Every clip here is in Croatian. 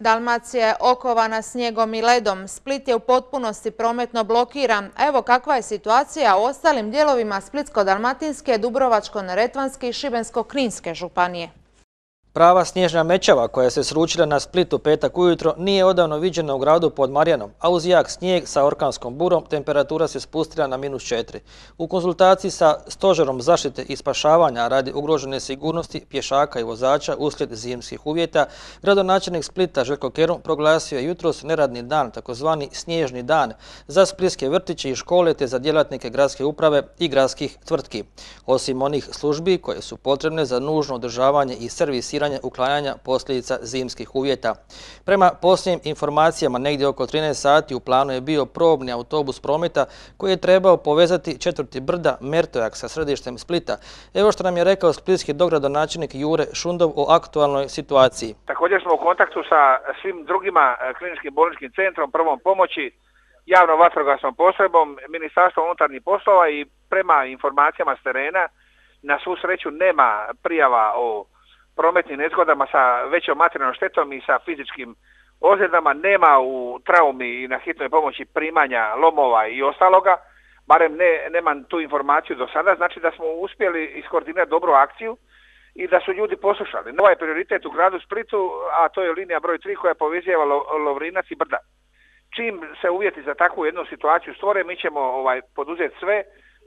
Dalmacija je okovana snijegom i ledom. Split je u potpunosti prometno blokiran. Evo kakva je situacija u ostalim dijelovima Splitsko-dalmatinske, Dubrovačko-neretvanske i Šibensko-kninske županije. Prava snježna mećava koja se sručila na Split u petak ujutro nije odavno viđena u gradu pod Marjanom, a uz jak snijeg sa orkanskom burom temperatura se spustila na -4. U konzultaciji sa Stožerom zaštite i spašavanja radi ugrožene sigurnosti pješaka i vozača uslijed zimskih uvjeta, gradonačelnik Splita Željko Kerum proglasio je jutros neradni dan, takozvani snježni dan, za splitske vrtiće i škole te za djelatnike gradske uprave i gradskih tvrtki. Osim onih službi koje su potrebne za nužno održavanje i servisiranje uklanjanja posljedica zimskih uvjeta. Prema posljednjim informacijama, negdje oko 13 sati u planu je bio probni autobus prometa koji je trebao povezati četvrti brda Mertojak sa središtem Splita. Evo što nam je rekao splitski dogradonačelnik Jure Šundov o aktualnoj situaciji. Također smo u kontaktu sa svim drugima kliničkim bolničkim centrom, prvom pomoći, javnom vatrogasnom postrojbom, Ministarstvom unutarnjih poslova i prema informacijama s terena, na svu sreću nema prijava o prometnim nezgodama sa većom materijalnom štetom i sa fizičkim ozljedama, nema u traumi i na hitnoj pomoći primanja lomova i ostaloga, barem nemam tu informaciju do sada, znači da smo uspjeli iskoordinirati dobru akciju i da su ljudi poslušali. Ovaj prioritet u gradu Splitu, a to je linija broj 3 koja povezuje Lovrinac i Brda. Čim se uvjeti za takvu jednu situaciju stvore, mi ćemo poduzeti sve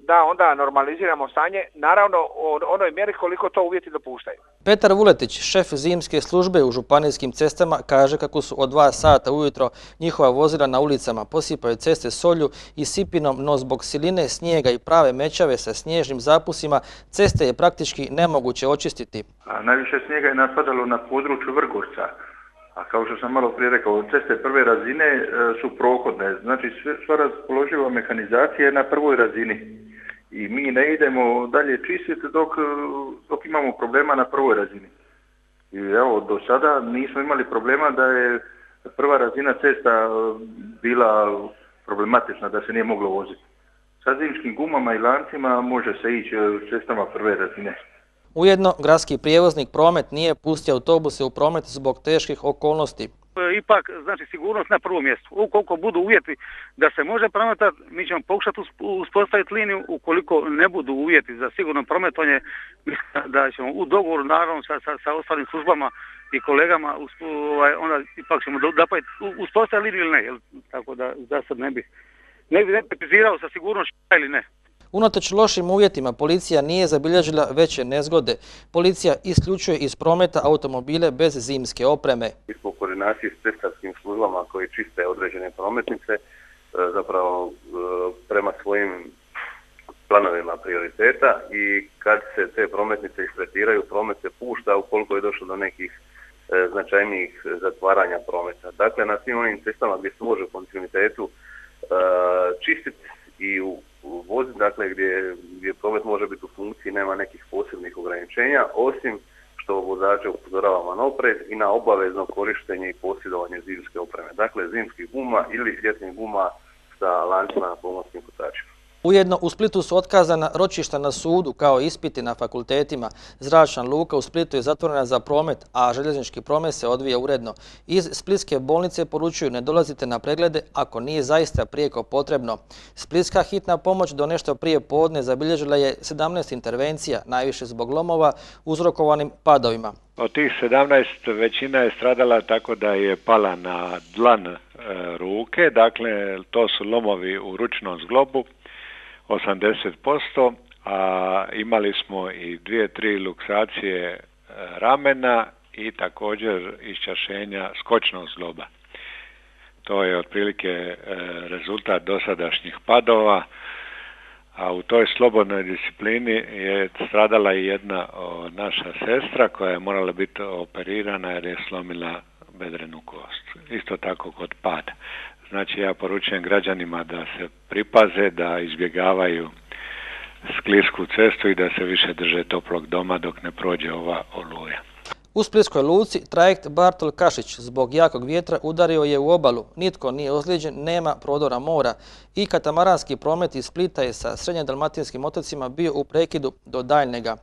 da onda normaliziramo stanje, naravno u onoj mjeri koliko to uvjeti dopuštaju. Petar Vuletić, šef zimske službe u županijskim cestama, kaže kako su od 2 sata ujutro njihova vozila na ulicama posipaju ceste solju i sipinom, no zbog siline snijega i prave mećave sa snježnim zapusima ceste je praktički nemoguće očistiti. Najviše snijega je napadalo na području Vrgorca. A kao što sam malo prije rekao, ceste prve razine su prohodne, znači sva raspoloživa mehanizacija je na prvoj razini. I mi ne idemo dalje čistiti dok imamo problema na prvoj razini. I evo, do sada nismo imali problema da je prva razina cesta bila problematična, da se nije moglo voziti. Sa zimskim gumama i lancima može se ići cestama prve razine. Ujedno, gradski prijevoznik Promet nije pustio autobuse u promet zbog teških okolnosti. Ipak, znači, sigurnost na prvom mjestu. Ukoliko budu uvjeti da se može prometati, mi ćemo pokušati uspostaviti liniju. Ukoliko ne budu uvjeti za sigurno prometovanje, mislim da ćemo u dogovoru, naravno, sa ostalim službama i kolegama, onda ipak ćemo uspostaviti liniju ili ne. Tako da, za sad ne bi precizirao sa sigurnošću ili ne. Unatoč lošim uvjetima policija nije zabilježila veće nezgode. Policija isključuje iz prometa automobile bez zimske opreme. Mi smo u koordinaciji s cestarskim službama koji čiste određene prometnice, zapravo prema svojim planovima prioriteta, i kad se te prometnice istretiraju, promet se pušta ukoliko je došlo do nekih značajnijih zatvaranja prometa. Dakle, na svim onim cestama gdje se može u kontinuitetu čistiti i voziti, dakle gdje promet može biti u funkciji, nema nekih posebnih ograničenja, osim što vozače upozoravamo na oprez i na obavezno korištenje i posjedovanje zimske opreme. Dakle, zimskih guma ili ljetnih guma sa lancima na pomorskim kotačima. Ujedno, u Splitu su otkazana ročišta na sudu kao ispiti na fakultetima. Zračna luka u Splitu je zatvorena za promet, a željeznički promet se odvija uredno. Iz splitske bolnice poručuju ne dolazite na preglede ako nije zaista prijeko potrebno. Splitska hitna pomoć do nešto prije podne zabilježila je 17 intervencija, najviše zbog lomova uzrokovanim padovima. Od tih 17 većina je stradala tako da je pala na dlan ruke, dakle to su lomovi u ručnom zglobu, 80%, a imali smo i 2-3 luksacije ramena i također iščašenja skočnog zgloba. To je otprilike rezultat dosadašnjih padova, a u toj slobodnoj disciplini je stradala i jedna naša sestra koja je morala biti operirana jer je slomila bedrenu kost. Isto tako kod pada. Znači, ja poručujem građanima da se pripaze, da izbjegavaju sklisku cestu i da se više drže toplog doma dok ne prođe ova oluja. U Splitskoj luci trajekt Bartol Kašić zbog jakog vjetra udario je u obalu. Nitko nije ozlijeđen, nema prodora mora i katamaranski promet iz Splita je sa srednje dalmatinskim otocima bio u prekidu do daljnjega.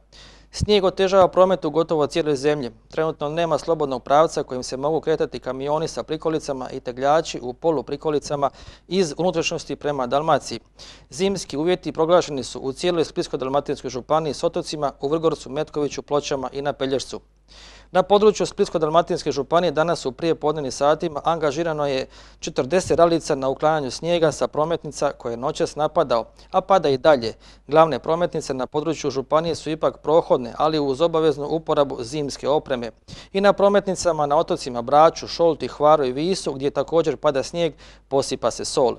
Snijeg otežava promet u gotovo cijeloj zemlji. Trenutno nema slobodnog pravca kojim se mogu kretati kamioni sa prikolicama i tegljači u poluprikolicama iz unutrašnjosti prema Dalmaciji. Zimski uvjeti proglašeni su u cijeloj Splitsko-dalmatinskoj županiji s otocima u Vrgorcu, Metkoviću, Pločama i na Pelješcu. Na području Splitsko-dalmatinske županije danas u prijepodnevnim satima angažirano je 40 ralica na uklanjanju snijega sa prometnica koje je noćas napadao, a pada i dalje. Glavne prometnice na području županije su ipak prohodne, ali uz obaveznu uporabu zimske opreme. I na prometnicama na otocima Braču, Šolti, Hvaru i Visu, gdje također pada snijeg, posipa se sol.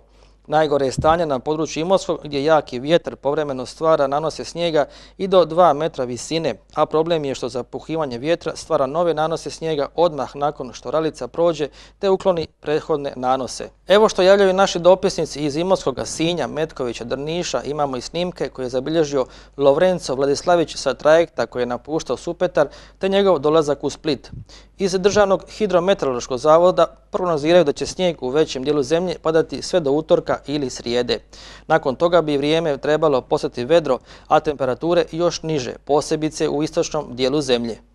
Najgore je stanje na području Imotskog gdje jaki vjetar povremeno stvara nanose snijega i do 2 metra visine, a problem je što zapuhivanje vjetra stvara nove nanose snijega odmah nakon što ralica prođe te ukloni prethodne nanose. Evo što javljaju naši dopisnici iz Imotskoga, Sinja, Metkovića, Drniša, imamo i snimke koje je zabilježio Lovrenco Vladislavić sa trajekta koji je napuštao Supetar te njegov dolazak u Split. Iz Državnog hidrometeorološkog zavoda prognoziraju da će snijeg u većem dijelu zemlje padati sve do utorka ili srijede. Nakon toga bi vrijeme trebalo postati vedro, a temperature još niže, posebice u istočnom dijelu zemlje.